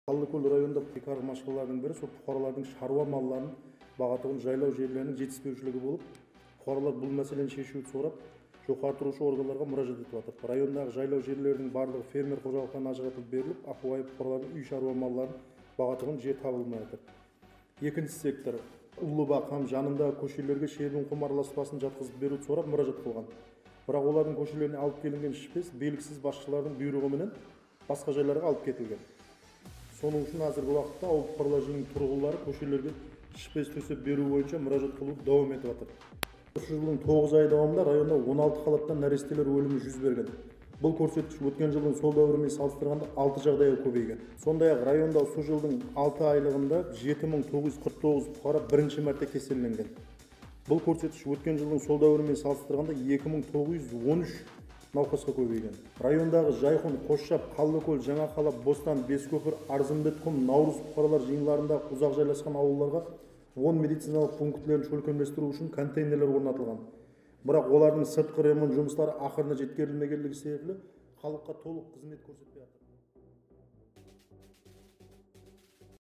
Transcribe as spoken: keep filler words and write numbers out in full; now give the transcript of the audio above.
Талдыкөл районунда кармашкалардын бири ошол фукаралардын шаруа малларын багатыгын жайлоо жерлеринин жетишпөөчүлүгү болуп, фукаралар бул маселени чечүүнү сурап, жогору турушуу органдарга муражаат этип атат. Райондагы жайлоо жерлеринин баардыгы фермер кожолуктарына ажыратылып берилип, акыбай фукаралардын үй шаруа малларын багатыгын жер табылмай атат. Экинчи сектор Улуу Бак һәм жанындагы көчөлөргө шербин кум араласпасын жаткызып берүүнү сурап муражаат кылган. Бирок олардын көчөлөрүнө алып келинген шпес белгисиз башчылардын буйругу менен башка жайларга алып кетилген. Сонун үчүн азыркы убакытта ауыл фукараларынын тургунлары көчөлөргө шпес төсөп берүү боюнча муражаат кылып дагам этип атат. Ушул жылдын тогуз ай давамында районда он алты калаттан нарестелер өлүмү жүз берген. Бул көрсөткүч өткөн жылдын сол дәврү менен салыштырганда алты жагдайга көбөйгөн. Сондай ак районда ушул жылдын алты айлыгында жети миң тогуз жүз кырк тогуз фукара биринчи марта кеселленген. Бул көрсөткүч өткөн жылдын сол дәврү менен салыштырганда эки миң тогуз жүз он үч навкаска көбөйгөн. Райондагы Жайхун, Кошшап, Калдыкөл, Жаңа Калап, Бостан, Бескөпүр, Арзымбет, Кум, Наурыз фукаралар жыйындарында узак жайлашкан авылдарга он медициналык пунктлерин чөлкөмдөштүрүү үчүн контейнерлер орнотулган. Бирок олардын сырткы ремонт жумуштары акырына жеткирилмегендиги себепле халыкка толук кызмет көрсөтпөй атат.